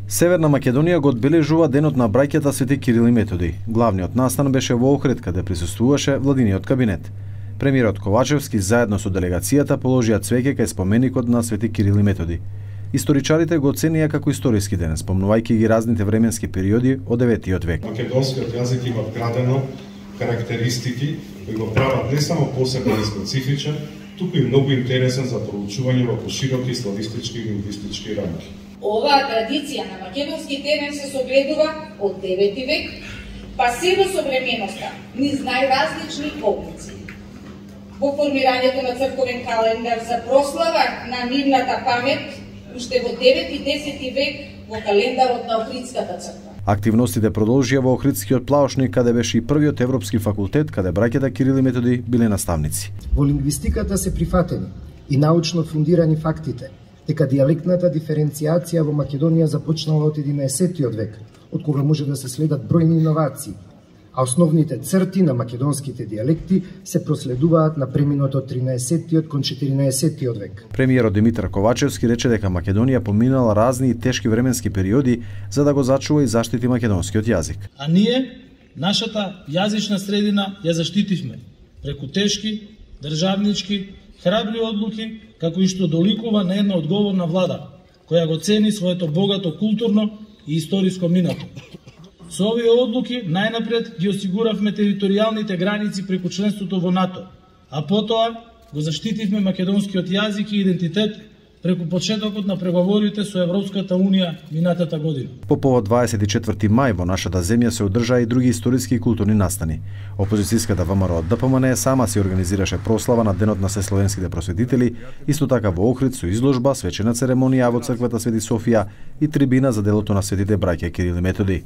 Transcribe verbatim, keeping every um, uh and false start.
Северна Македонија го одбележува денот на браќата Свети Кирил и Методи. Главниот настан беше во Охрид, каде присуствуваше владиниот кабинет. Премиерот Ковачевски заедно со делегацијата положија цвеќе кај споменикот на Свети Кирил и Методи. Историчарите го оценија како историски ден, спомнувајќи ги разните временски периоди од деветиот век. Македонскиот јазик има вградено карактеристики кои го прават не само посебен и специфичен, туку и многу интересен за проучување во пошироки славистички и лингвистички рамки. Оваа традиција на македонски терен се согледува од девети век, па се до современоста, низ најразлични облици. Во формирањето на црковен календар за прослава на нивната памет, уште во девети и десети век во календарот на Охридската црква. Активностите продолжија во Охридскиот плаошник, каде беше и првиот европски факултет, каде браќата Кирил и Методи биле наставници. Во лингвистиката се прифатени и научно фундирани фактите дека дијалектната диференцијација во Македонија започнала од единаесеттиот век, од кога може да се следат бројни иновации, а основните црти на македонските дијалекти се проследуваат на преминот од тринаесеттиот кон четиринаесеттиот век. Премиерот Димитар Ковачевски рече дека Македонија поминала разни и тешки временски периоди за да го зачува и заштити македонскиот јазик. А ние, нашата јазична средина ја заштитивме преку тешки, државнички, храбри одлуки, како и што доликува на една одговорна влада, која го цени своето богато културно и историско минато. Со овие одлуки најнапред ги осигуравме територијалните граници преку членството во НАТО, а потоа го заштитивме македонскиот јазик и идентитет преку почетокот на преговорите со Европската Унија минатата година. По повод дваесет и четврти мај во нашата земја се одржаа и други историски и културни настани. Опозицијската ВМРО ДПМН сама си организираше прослава на Денот на сесловенските просветители, исто така во Охрид со изложба, свечена церемонија во црквата Свети Софија и трибина за делото на светите браќа Кирил и Методи.